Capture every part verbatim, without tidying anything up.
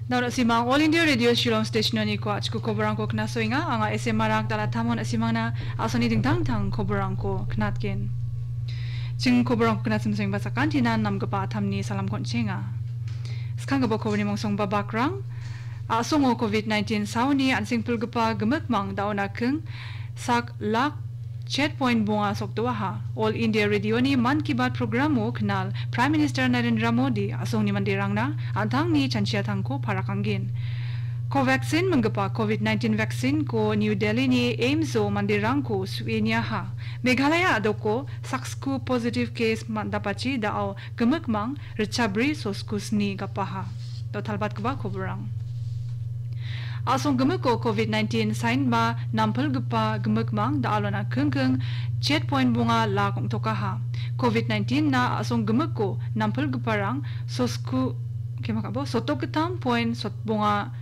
Daun asimang All India Radio Shillong Station-oniko a·chiko koborangko knasoenga. Anga S M Marak dala tamon asimangna a·songni dingtang dingtang koborangko knatgen. Ching koborangko knatsimsengba sakantinan namgipa atamni salamko on·chenga. Skanggipa koborni mongsongba bakrang. A·songo covid nineteen saoni an·sengpilgipa gimikmang daona king sak lak chet point bonga sokdoaha. All India Radio-ni Mann Ki Baat programo knal Prime Minister Narendra Modi a·songni manderangna an·tangni chanchiatangko parakanggen. Covaxin minggipa covid nineteen vaccine-ko New Delhi-ni AIIMS-o manderangko su·e niaha. Meghalaya a·doko saksku positive case man-, dapachi da·o gimikmang ritchabri sosku sni gapaha. Dotalbatgipa koborang. A·song gimiko covid nineteen sainba nampilgipa gimikmang da·alona kingking chet point bonga lak ong·tokaha. Covid nineteen-na a·song gimiko nampilgiparang sosku, kemakabo, sotok gittam point sot bonga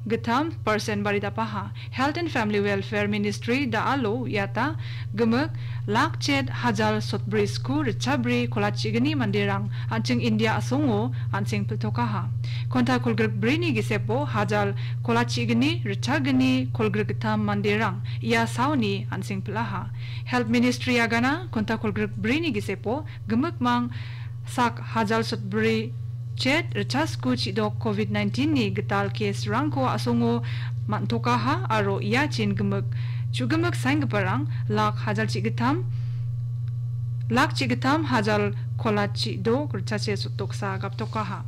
gittam persen baridapaha. Health and Family Welfare Ministry da·alo uiata gimik lak chet hajal sotbri sku ritchabri kolachigni manderang an·ching India a·songo an·seng pil·tokaha. Konta kolgrikbrini gisepo hajal kolachigni ritchagni kolgrikgittam manderang ia saoni an·seng pil·aha. Health Ministry agana konta kolgrikbrini gisepo gimikmang sak hajal sotbri chet ritchasku chidok covid nineteen-ni gital case-rangko a·songo man·tokaha aro iachin gimik, chu·gimik saenggiparang lak hajal chigittam, lak chigittam hajal kola chidok ritchache sotoksa gaptokaha.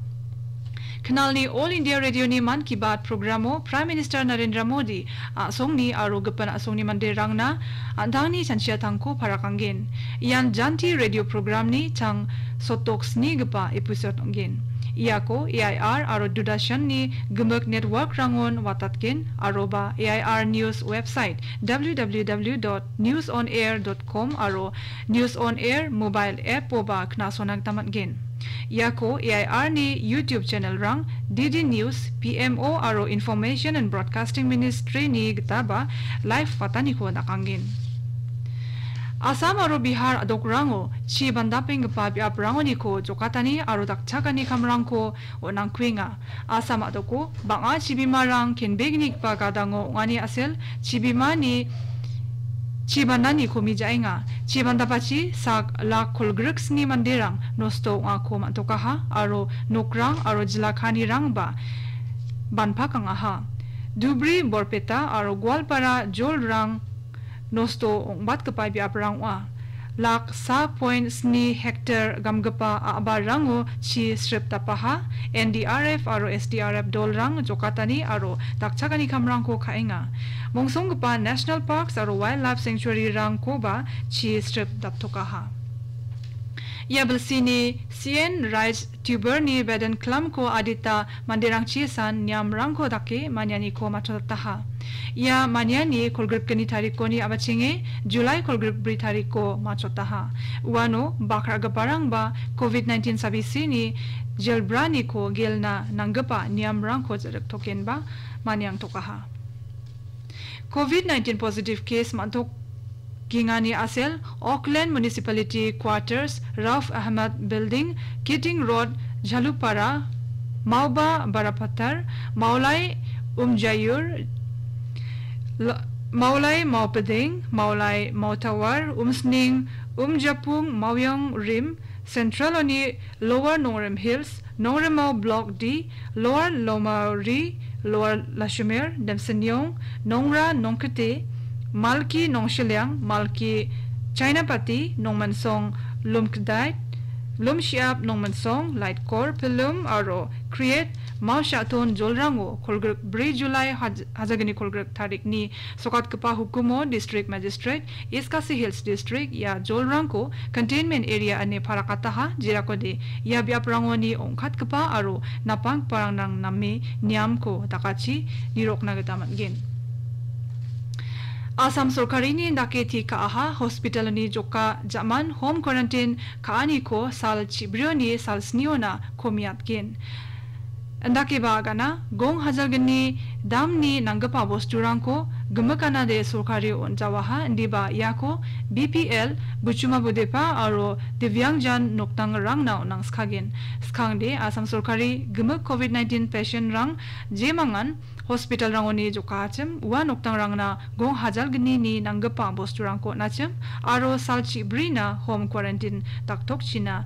Knalni All India Radio-ni Mann Ki Baat programo Prime Minister Narendra Modi a·songni aro gipin a·songni manderangna an·tangni chanchiatangko parakanggen. Ian Janti radio programni chang sotok snigipa episode ong·gen. Iako A I R aro Doordarshan-ni gimik network-rangon watatgen, aroba A I R News website W W W dot news on air dot com aro News on Air mobile app-oba knasona gita man·gen. Iako A I R-ni YouTube channel-rang, D D News, P M O aro Information and Broadcasting Ministry-ni gitaba live wataniko dakanggen. Assam aro Bihar a·dokrango chi bandapenggipa biaprangoniko jokatani aro dakchakani kamrangko on·angkuenga. Assam a·doko bang·a chibimarang kenbegnigipa gadango ong·ani a·sel chibimani chibanani komi ja·enga. Chibandapachi sak lak kolgrik sni manderang nosto ong·ako man·tokaha aro nokrang aro jila kanirangba banpakangaha. Dhubri, Borpeta aro Goalpara jolrang nosto ong·batgipa biaprang ong·a. Lak sa point sni hektar gamgipa a·barango chi srip dapaha. N D R F aro S D R F dolrang jokatani aro dakchakani kamrangko ka·enga. Mongsonggipa National Parks aro Wildlife Sanctuary-rangkoba chi srip daptokaha. Ia bilsini C N Rice Tuber-ni beden klamko adita manderangchi san niamrangko dake manianiko matchotataha. Ia maniani kolgrikgni tarikoni a·bachenge Julai kolgrikbri tariko matchotaha. Uano bakragiparangba covid nineteen sabisini jelbraniko gelna nanggipa niamrangko ja·riktokenba maniangtokaha. Covid nineteen positive case man·tok gingani a·sel, Auckland Municipality Quarters, Rauf Ahmad Building, Keating Road, Jhalupara, Mauba Barapathar, Mawlai Umjayur, La-, Mawlai Mawpedeng, Mawlai Mautawar, Umsning, Umjapung, Mawiong Rim, Central-oni Lower Nongrim Hills, Nongrimao Block D, Lower Lomari, Lower Lashumir, Demsenyong, Nongra, Nongkete, Malki, Nongshiliang, Malki, Chainapati, Nongmansong, Lumkdait, Lumshiap, Nongmansong, Laitkor, Pilum, aro Kriet, Maushaton jolrango kolgrik bri Julai haj-, hajagni kolgrik tarikni sokatgipa hukumo District Magistrate, East Khasi Hills District ia jolrangko containment area ine parakataha, jerakode ia biaprangoni ong·katgipa aro napanggiparang name niamko dakachi nirokna gita man·gen. Assam sorkarini dake ti ka·aha hospitalni joka ja·man home quarantine ka·aniko sal chibrioni sal sniona komiatgen. Indakeba agana gong hajalgni damni nanggipa bosturangko gimikanade sorkari on·jawaha, indiba iako B P L, Buchuma Budepa aro Divyangjan nokdangrangna on·angskagen. Skangde Assam sorkari gimik covid nineteen patient-rang jemangan hospital-rangoni jokahachim, ua nokdangrangna gong hajal gnini nanggipa bosturangko on·achim aro sal chibrina home quarantine daktokchina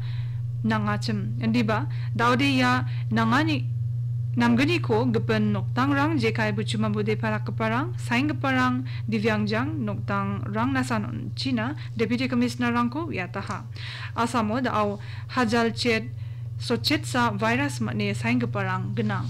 nangachim. Indiba, daode ia nangani, namgniko gipin nokdangrang jekai Buchuma Budepa dakgiparang, saenggiparang, Divyangjan nokdangrang nasan on·china Deputy Commissioner-rangko uiataha. Asamo da·o hajal chet sotchetsa virus man·e saenggiparang gnang.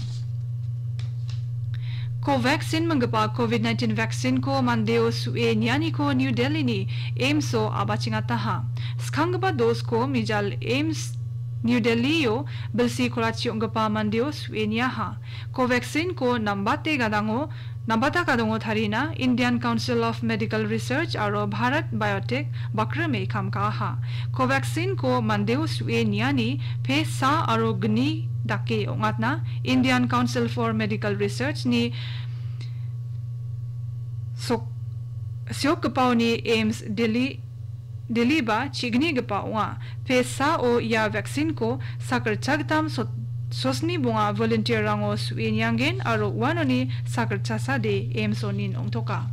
Covaxin minggipa covid nineteen vaccine-ko mandeo su·e nianiko New Delhi-ni AIIMS-o a·bachengataha. Skanggipa dos-ko mijal AIIMS New Delhi-o bilsi kolachi ong·gipa mandeo su·e niaha. Covaxin-ko nambate gadango, nambata gadango tarina Indian Council of Medical Research aro Bharat Biotech bakrime kam ka·aha. Covaxin-ko mandeo su·e niani pe sa aro gni dake ong·atna Indian Council for Medical Research-ni sok-, siokgipaoni AIIMS Delhi, Delhi-ba chignigipa ong·a. Pe sao ia vaccine-ko sakgittam sot-, sosni bonga volunteer-rango su·e niangen aro uanoni sakgittasade AIIMS-onin ong·toka.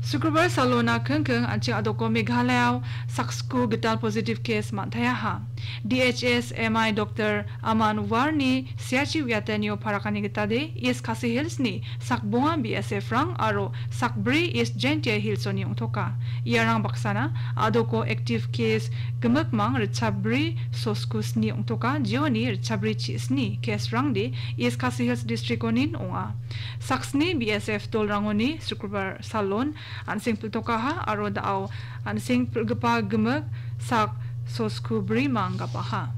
Sukrobar salona kingking an·ching a·doko Meghalaya-o saksko gital positive case man·taiaha. D H S M I Doktor Aman Warni siachi uiatanio parakani gitade East Khasi Hills-ni sakbonga B S F-rang aro sakbri East Jaintia Hills-oni ong·toka. Iarang baksana a·doko active case gimikmang ritchabri sosku sni ong·toka, jeoni ritchabri chi sni case-rangde East Khasi Hills District-onin ong·a. Saksni B S F dolrangoni Sukrobar salon an·seng pil·tokaha aro da·o an·seng pil·gipa gimik sak sosku brimang gapaha.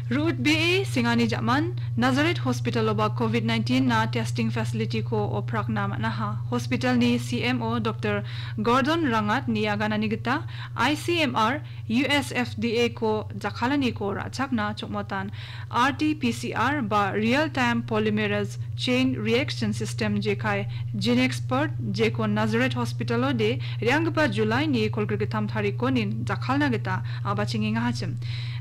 Ru·utbee sengani ja·man Nazareth Hospital-oba covid nineteen-na testing facility-ko oprakna man·aha. Hospital-ni C M O Doktor Gordon Rangat-ni aganani gita I C M R U S F D A-ko jakkalaniko ra·chakna chongmotan R T P C R ba Real Time Polymerase Chain Reaction System jekai Genexpert jeko Nazareth Hospital-ode re·anggipa July-ni kolgrikgittam tarikonin jakkalna gita a·bachengengahachim.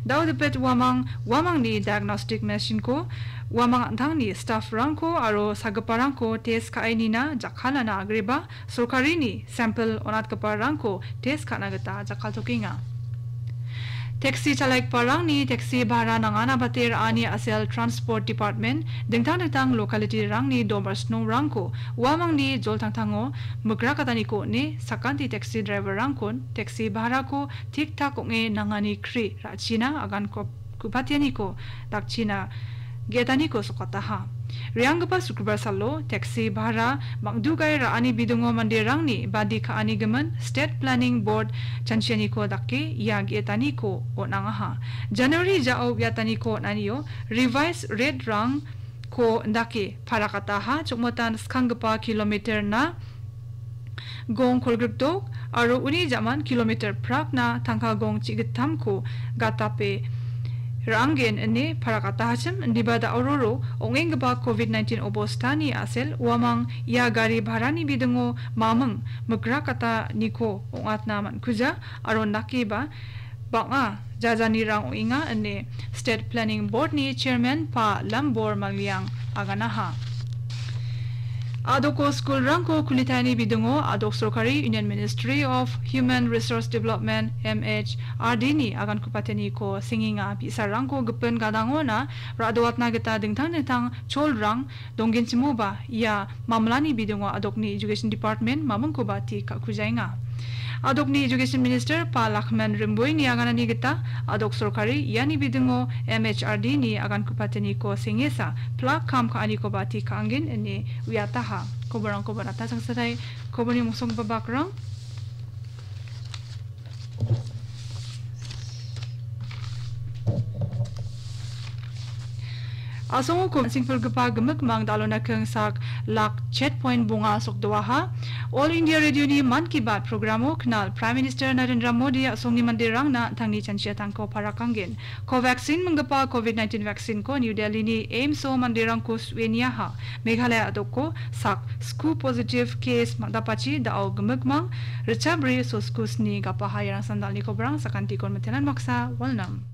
Daudipet uamang, uamangni diagnostic machine-ko, uamang an·tangni staff-rangko aro sagiparangko test ka·e nina jakkalna agreba sorkarini sample on·atgiparangko test ka·na gita jakkaltokenga. Taxi chalaigiparangni taxi bhara nangana bate ra·ani a·sel Transport Department dingtang dingtang locality-rangni domarsnongrangko uamangni joltangtango mikrakataniko on·e sakanti taxi driver-rangkon taxi bharako tik-tak ong·e nangani kri ra·china agan kop-, ku·patianiko dakchina ge·etaniko sokataha. Re·anggipa Sukrobar salo taxi bhara mangdugae ra·ani bidingo manderangni badi ka·ani gimin State Planning Board chanchianiko dake ia ge·etaniko on·angaha. January jao uiataniko on·anio revised rate-rangko indake parakataha, chongmotan skanggipa kilometer-na gong kolgrikdok aro uni ja·man kilometer prakna tangka gong chi·gittamko gatape ra·angen ine parakatahachim, indiba da·ororo ong·enggipa covid nineteen obostani a·sel uamang ia gari bharani bidingo maming mikrakataniko ong·atna man·kuja aro nakiba bang·a jajanirang ong·enga ine State Planning Board-ni Chairman Pa Lambor Maliang aganaha. A·doko skulrangko kulitani bidingo a·dok sorkari Union Ministry of Human Resource Development, M H R D-ni agankupateniko sengenga, bi·sarangko gipin gadangona ra·doatna gita dingtang dingtang cholrang donggenchimoba ia mamlani bidingo a·dokni Education Department mamingkoba tik ka·kujaenga. A·dokni Education Minister Pa Lakman Rimboini aganani gita a·dok sorkari iani bidingo M H R D-ni agankupateniko sengesa plak kam ka·anikoba tik ka·angen ine uiataha. Koborangkoba nata changsatai, koborni mosonggipa bakrang. Asongo ko-, singpilgipa gimikmang dalona keng sak lak chet point bonga sokdoaha. All India Radio-ni Mann Ki Baat programo knal Prime Minister Narendra Modi asongni manderangna tangni chanchiatangko parakanggen. Covaxin minggipa covid nineteen vaccine-ko New Delhi-ni AIIMS-o manderangko sueniaha. Meghalaya a·doko sak sku positive case ma-, dapachi da·o gimikmang richabri sosku sni gapaha. Iarang sandalni kobrang sakantikon mitenan maksa walnam.